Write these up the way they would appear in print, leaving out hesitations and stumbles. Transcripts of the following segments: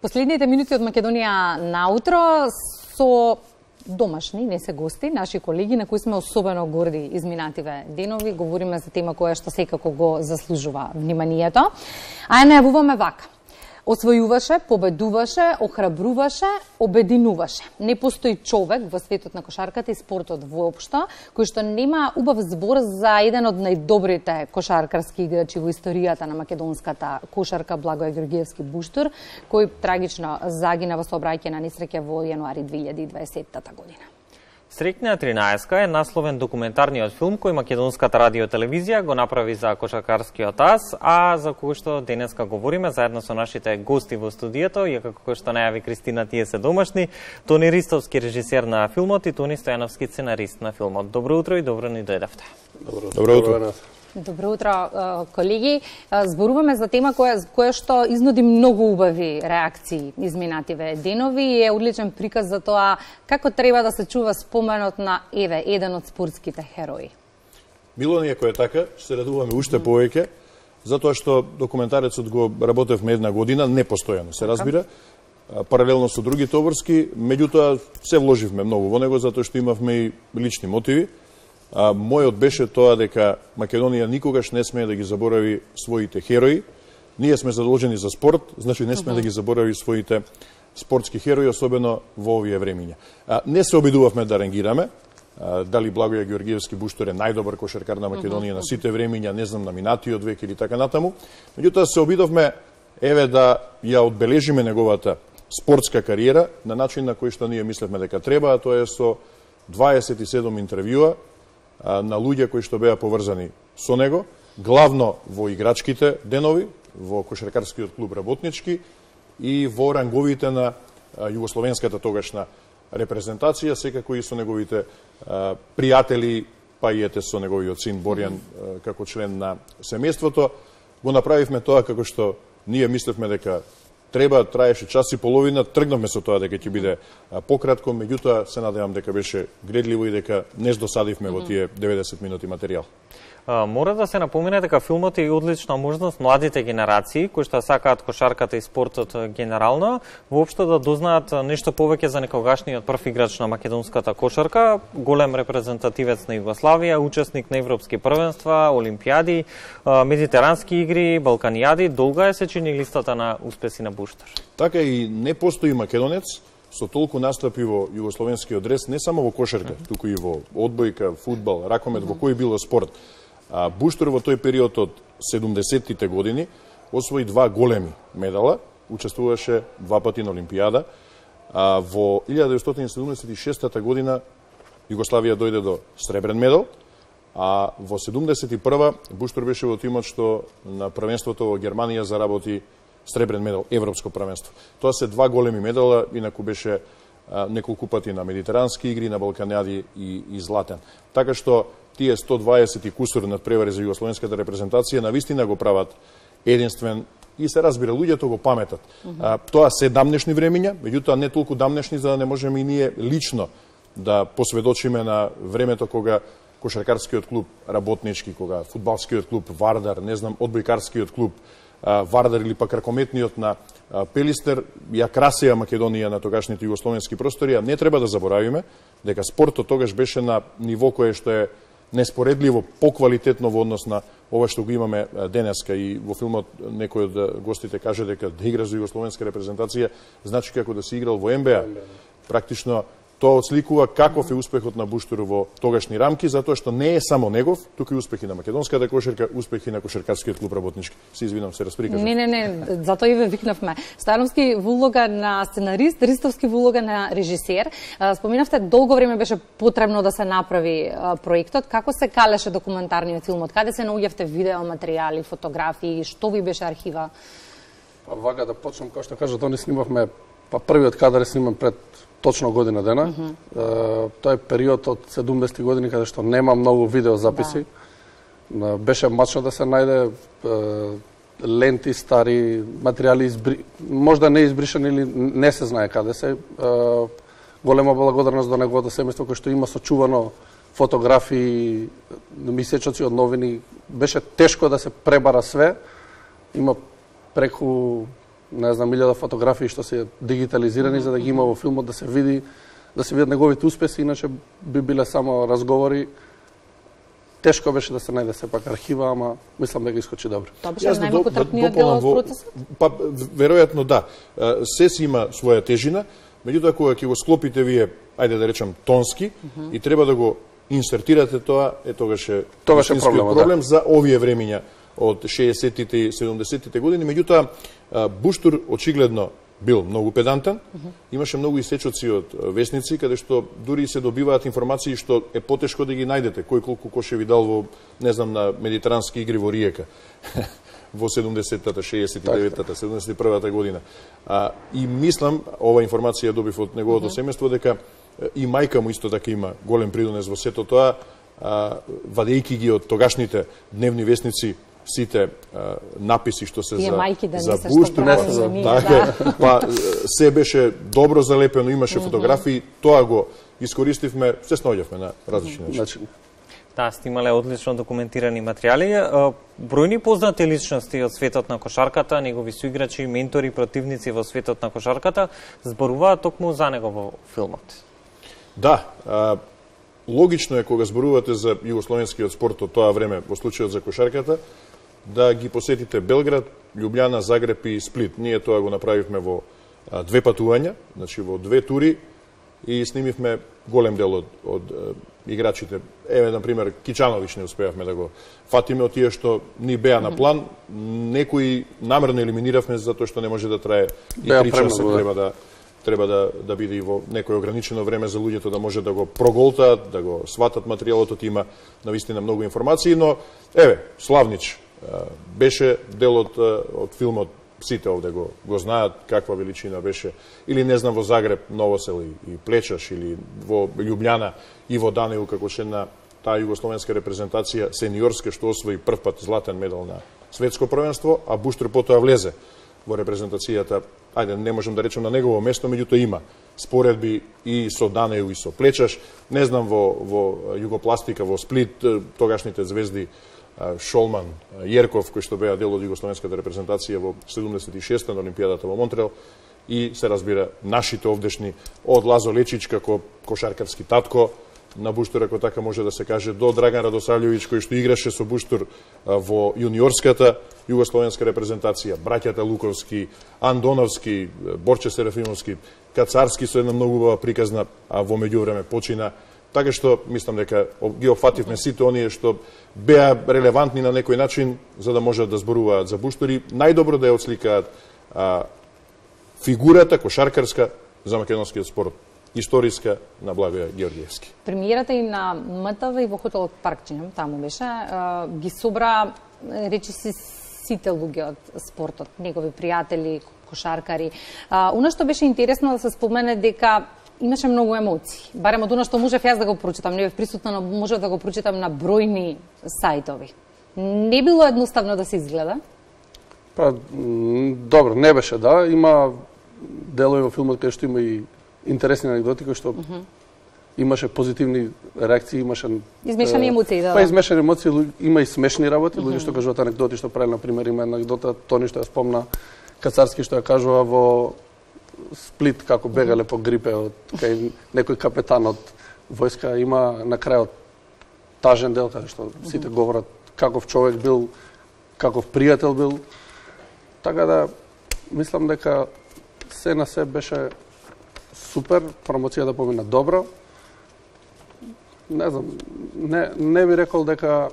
Последните минути од Македонија наутро со домашни, не се гости, наши колеги на кои сме особено горди изминативе денови. Говориме за тема која што секако го заслужува вниманието. А ја најавуваме вака. Освојуваше, победуваше, охрабруваше, обединуваше. Не постои човек во светот на кошарката и спортот воопшто кој што нема убав збор за еден од најдобрите кошаркарски играчи во историјата на македонската кошарка Благоје Георгиевски Буштур, кој трагично загина во сообраќајна несреќа во јануари 2020 година. Среќна 13 е насловен документарниот филм кој македонската радиотелевизија го направи за кошаркарскиот ас, а за кој што денеска говориме заедно со нашите гости во студиото, и како што најави Кристина, тие се домашни, Тони Ристовски, режисер на филмот, и Тони Стојановски, сценарист на филмот. Добро утро и добро ни дојдовте. Добро утро. Добро утро, колеги. Зборуваме за тема која што изнуди многу убави реакции изминативе денови и е одличен приказ за тоа како треба да се чува споменот на еден од спортските херои. Било ни ако е така, се радуваме уште повеќе, затоа што документарецот го работевме една година, непостојано се разбира, паралелно со другите обврски, меѓутоа се вложивме многу во него затоа што имавме и лични мотиви. Мојот беше тоа дека Македонија никогаш не смее да ги заборави своите херои. Ние сме задолжени за спорт, значи не сме да ги заборави своите спортски херои, особено во овие времиња. Не се обидувавме да рангираме, дали Благоје Георгиевски Буштур е најдобар кошаркар на Македонија на сите времиња, не знам, на минатиот век или така натаму. Меѓутоа се обидовме да ја одбележиме неговата спортска кариера на начин на кој што ние мислевме дека треба, а тоа е со 27 интервјуа на луѓе кои што беа поврзани со него, главно во играчките денови, во кошаркарскиот клуб Работнички и во ранговите на југословенската тогашна репрезентација, секако и со неговите пријатели, па и ете со неговиот син Борјан како член на семејството. Го направивме тоа како што ние мислевме дека треба, траеше час и половина, тргнавме со тоа дека ќе биде пократко, меѓутоа се надевам дека беше гредливо и дека не здосадивме во тие 90 минути материјал. Мора да се напомене дека филмот е одлична можност младите генерации, кои што сакаат кошарката и спортот генерално, воопшто да дознаат нешто повеќе за некогашниот прв играч на македонската кошарка, голем репрезентативец на Југославија, учесник на европски првенства, олимпијади, медитерански игри, балканијади. Долга е се чини листата на успеси на Буштур. Така и не постои македонец со толку настапи во југословенскиот дрес, не само во кошарка, туку и во одбојка, фудбал, ракомет, во кој било спорт. Буштур во тој период од 70-тите години освои 2 големи медала, учествуваше 2 пати на Олимпијада. Во 1976 година Југославија дојде до сребрен медал, а во 71 Буштур беше во тимот што на првенството во Германија заработи сребрен медал, европско првенство. Тоа се 2 големи медала, инаку беше неколку пати на медитерански игри, на балканијади и златен. Така што тие 120 и кусур надпревари за југословенската репрезентација навистина го прават единствен и се разбира, луѓето го паметат. Тоа се дамнешни времиња, меѓутоа не толку дамнешни за да не можеме и ние лично да посведочиме на времето кога кошаркарскиот клуб Работнички, кога фудбалскиот клуб Вардар, не знам, одбојкарскиот клуб Вардар или пак ракометниот на Пелистер ја красеа Македонија на тогашните југословенски простори, а не треба да заборавиме дека спортот тогаш беше на ниво кое што е неспоредливо поквалитетно во однос на ова што го имаме денеска. И во филмот некој од гостите каже дека да игра за југословенска репрезентација значи како да си играл во НБА. Практично тоа отсликува каков е успехот на Буштур во тогашни рамки, затоа што не е само негов, туку и успехи на македонската кошарка, успехи на кошаркарскиот клуб Работнички. Се извинам, се расприкажав. Не, затоа и ве викнавме. Стојановски во улога на сценарист, Ристовски во улога на режисер. Споминавте, долго време беше потребно да се направи проектот. Како се калеше документарниот филмот? Каде се наоѓавте видео материјали, фотографии, што ви беше архива? Вака да почнем, како што кажа, не снимавме, првиот кадар е сниман пред точно година дена. Тоа е период од 70 години каде што нема многу видеозаписи. Беше мачно да се најде ленти, стари материјали, можда не избришани или не се знае каде се. Голема благодарност до неговото семејство кој што има сочувано фотографии, мисечоци од новини. Беше тешко да се пребара све. Има преку не знам, 1000 фотографии што се дигитализирани за да ги има во филмот, да се видат неговите успеси, иначе би биле само разговори. Тешко беше да се најде сепак архива, ама мислам да ги искочи добро. Тоа беше најмалку трпниот дел од процесот? Па, веројатно да. Се си има своја тежина, меѓутоа кога ќе го склопите вие, ајде да речам, тонски, и треба да го инсертирате тоа, тогаш е проблем за овие времиња од 60-тите и 70-тите години. Меѓутоа, Буштур очигледно бил многу педантен, имаше многу исечоци од весници, каде што дури се добиваат информации што е потешко да ги најдете. Кој колку кошеви дал во, не знам, на медитерански игри во Риека во 70-тата, 69-тата, 71-та година. И мислам, ова информација добив од неговото семејство, дека и мајка му исто така има голем придонес во сето тоа, вадејќи ги од тогашните дневни весници сите написи што се за Буштур, па се беше добро залепено, имаше фотографии, тоа го искористивме, се снаоѓавме на различни начини. Да, сте имале одлично документирани материјали. Бројни познати личности од светот на кошарката, негови суиграчи, ментори, противници во светот на кошарката, зборуваат токму за него во филмот. Да, логично е кога зборувате за југословенскиот спорт од тоа време, во случајот за кошарката, да ги посетите Белград, Љубљана, Загреб и Сплит. Ние тоа го направивме во 2 патувања, значи во 2 тури, и снимивме голем дел од играчите. Еве, например, Кичановиќ не успеавме да го фатиме од тие што ни беа на план. Некои намерно елиминиравме затоа што не може да трае и 3 часа, треба да биде и во некој ограничено време за луѓето да може да го проголтаат, да го сватат материјалот, има навистина многу информации, но еве, Славнич беше дел од филмот, сите овде го знаат каква величина беше, или не знам во Загреб, Новосел и Плечаш, или во Љубљана и во Данеју, како член на таа југословенска репрезентација сениорска што освои прв пат златен медал на светско првенство, а Буштур потоа влезе во репрезентацијата, ајде, не можам да речем на негово место, меѓутоа има споредби и со Данеју и со Плечаш, не знам во Југопластика, во Сплит, тогашните звезди Шолман, Јерков, кои што беа дел од југословенската репрезентација во 76-та на Олимпијадата во Монтреал, и се разбира нашите овдешни, од Лазо Лечич како кошаркарски татко на Буштур, ако така може да се каже, до Драган Радосављовиќ, кој што играше со Буштур во јуниорската југословенска репрезентација, браќата Луковски, Андоновски, Борче Серафимовски, Кацарски со една многу убава приказна, а во меѓувреме почина. Така што мислам дека ги опфативме сите оние што беа релевантни на некој начин за да можат да зборуваат за Буштур и најдобро да ја отсликаат фигурата кошаркарска за македонскиот спорт, историска на Благоја Георгиевски. Премиерата и на МТВ и во хотелот Паркчињам, таму беше, ги собра, речиси, сите луѓе од спортот, негови пријатели, кошаркари. Она што беше интересно да се спомене дека имаше многу емоции. Барем од она што можев јас да го прочитам, не бев присутна, но можев да го прочитам на бројни сајтови. Не било едноставно да се изгледа? Па, добро, не беше, да. Има делови во филмот кај што има и интересни анекдоти, кои што имаше позитивни реакции, имаше измешани емоции, да. Па измешани емоции, има и смешни работи, луѓе што кажуваат анекдоти, што правеле, на пример, има анекдота Тони што ја спомна Кацарски што ја кажува во Сплит како бегале по грипе од кај некој капетан од војска, има на крајот тажен дел каде што сите говорат каков човек бил, каков пријател бил. Така да мислам дека се на се беше супер, промоцијата помина добро. Не знам, не би рекол дека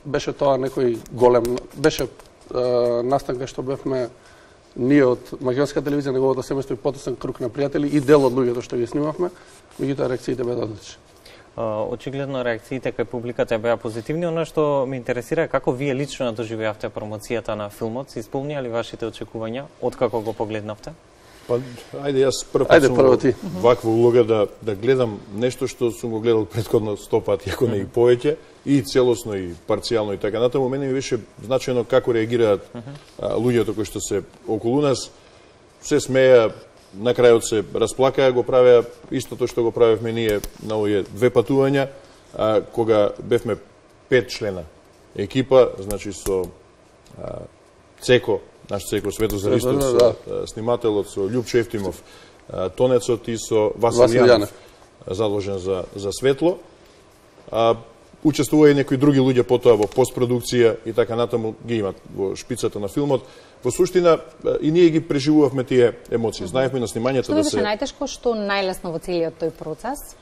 беше тоа некој голем, беше настанка што бевме ние од македонска телевизија, неговото семејство и потесен круг на пријатели и дел од луѓето што ги снимавме, меѓутоа реакциите беа одлични. Очигледно реакциите кај публиката беа позитивни. Она што ме интересира е како вие лично доживеавте промоцијата на филмот, се исполнија ли вашите очекувања откако го погледнавте? Па, ајде, јас прво ти ваква улога да гледам нешто што сум го гледал претходно 100 пати, ако не и повеќе, и целосно, и парцијално, и така натаму. Мене ми беше значајно како реагираат луѓето кои што се околу нас, се смеја, на крајот се расплакаа, го правеа истото што го правевме ние на овие 2 патувања, кога бевме 5 члена екипа, значи со Цеко наш Цеко Светозаристов, со снимателот, со Љупчо Ефтимов, тонецот и со Васил Јанов, задолжен за светло. Учествува и некои други луѓе потоа во постпродукција и така натаму ги имат во шпицата на филмот. Во суштина и ние ги преживувавме тие емоции. Знаевме на снимањето да се... Што беше најтешко, што најлесно во целиот тој процес?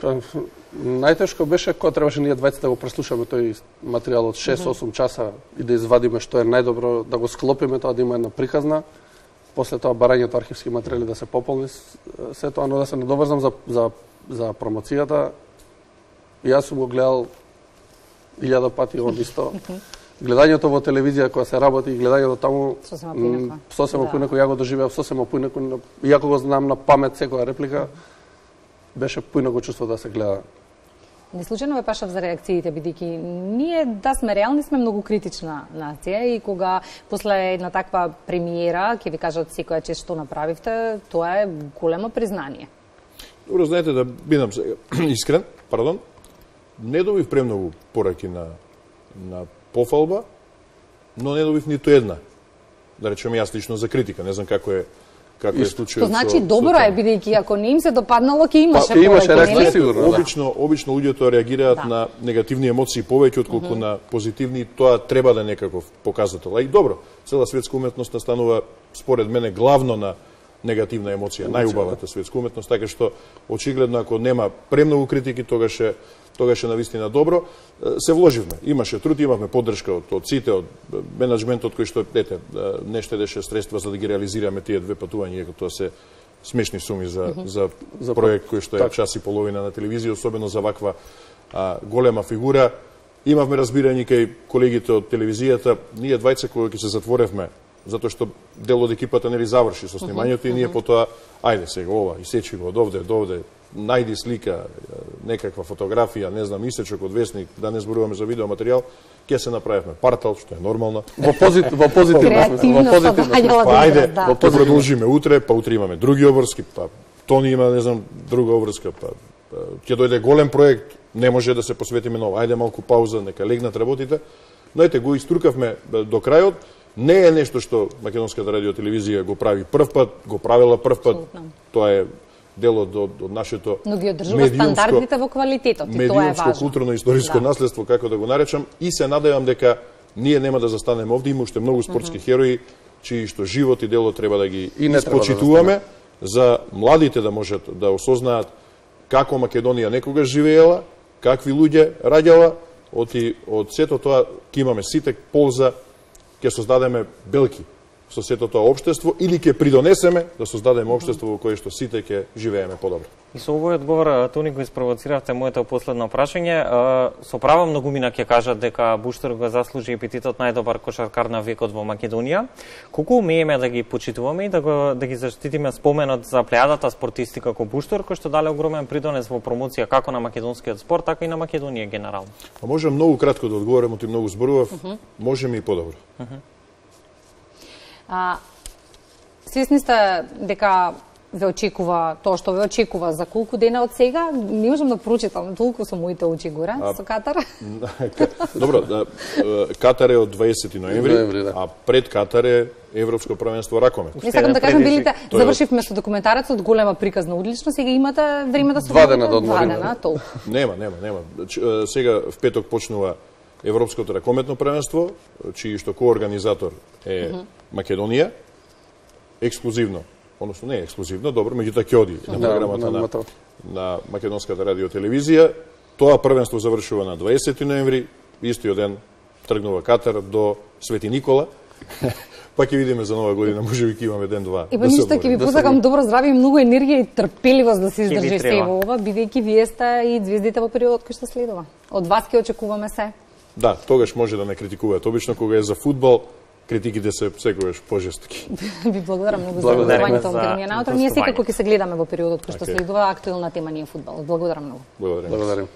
Најтешко беше кога требаше ние двајцата да го преслушаме тој материјал од 6-8 часа и да извадиме што е најдобро, да го склопиме тоа, да има една приказна. После тоа барањето архивски материјали да се пополни се тоа, но да се надоврзам за промоцијата. Јас сум го гледал 1000 пати он исто. Гледањето во телевизија кога се работи и гледањето таму сосема поинако ја го доживеав, сосема поинако, иако го знам на памет секоја реплика, беше поинако чувство да се гледа. Не случајно ме пашав за реакциите, бидејќи ние да сме реални, сме многу критична нација и кога после една таква премиера ќе ви кажат секоја чест што направивте, тоа е големо признание. Добро, знаете, да бидам искрен, не добив премногу пораки на пофалба, но не добив ниту една. Да речем јас лично за критика, не знам како е случајот. Тоа значи добро е, бидејќи ако не им се допаднало, ќе имаше реакција сигурно. Обично луѓето реагираат на негативни емоции повеќе отколку на позитивни, тоа треба да е некаков показател. И добро, цела светска уметност настанува според мене главно на негативна емоција, најубавата светска уметност, така што очигледно ако нема премногу критики, тогаш е навистина добро. Се вложивме, имаше труд, имавме поддршка од сите, од менаџментот кој што не штедеше средства за да ги реализираме тие две патувања, иако тоа се смешни суми за проект кој што е час и половина на телевизија, особено за ваква голема фигура. Имавме разбирање кај колегите од телевизијата, ние двајца кога ќе се затворевме, затоа што дел од екипата нели заврши со снимањето и ние потоа, ајде сега ова, исечи го од овде до овде, најди слика, некаква фотографија, не знам, исечок од весник, да не зборуваме за видеоматеријал, ќе се направивме партал, што е нормално. Во позитивно смисло. Па ајде, продолжиме утре, па утре имаме други обврски, па Тони има, не знам, друга обврска, па ќе дојде голем проект, не може да се посветиме ново. Ајде малку пауза, нека легнат работите. Но ете, го иструкавме до крајот. Не е нешто што Македонската радиотелевизија го прави прв пат, го правила прв пат. Тоа е дел од нашето стандардите во квалитетот и тоа е важно. Културно-историско наследство, како да го наречам, и се надевам дека ние нема да застанеме овде, има уште многу спортски херои чии што живот и дело треба да ги испочитуваме за младите да можат да осознаат како Македонија некогаш живеела, какви луѓе раѓала, од сето тоа ќе имаме сите полза, ќе создадеме белки со сето тоа општество или ќе придонесеме да создадеме општество во кое што сите ќе живееме подобро. И со овој одговор, Тони, го испровоциравте моето последно прашање. Со право многумина ќе кажат дека Буштур го заслужи епитетот најдобар кошаркар на векот во Македонија. Колку умееме да ги почитуваме и да ги заштитиме споменот за плејадата спортисти како Буштур, кој што дале огромен придонес во промоција како на македонскиот спорт, така и на Македонија генерално? Можам многу кратко да одговорам, ти многу зборував, можеме и подобро. Свесни сте дека ве очекува тоа што ве очекува за колку дена од сега? Не можам да прочитам толку со моите очи горе со Катар. Добро, Катар е од 20 ноември, а пред Катар е Европско првенство ракомет. Не сакам да кажам, билите завршивме со документарецот, голема приказна одлично, сега имате време да се 2 дена до одмор. Нема. Сега в петок почнува Европското ракометно првенство, чиј што коорганизатор е Македонија, ексклузивно, односно не ексклузивно, добро, меѓутоа ќе оди на програмата на Македонската радиотелевизија. Тоа првенство завршува на 20 ноември, истиот ден тргнува Катар до Свети Никола. Па ќе видиме за нова година, можеби ќе имаме ден-два. Ева ништо, ќе ви посакам добро здравје, многу енергија и трпеливост да се издржи се во ова, бидејќи вие сте и звездите во периодот кој што следува. Од вас ќе очекуваме се. Да, тогаш може да не критикуваат. Обично кога е за фудбал, критиките се секогаш пожестоки. Ви благодарам многу за одговорањето во Грмија наутро. Ние секако ќе се гледаме во периодот кој што следува, актуелна тема ни е фудбал. Благодарам многу. Благодарам.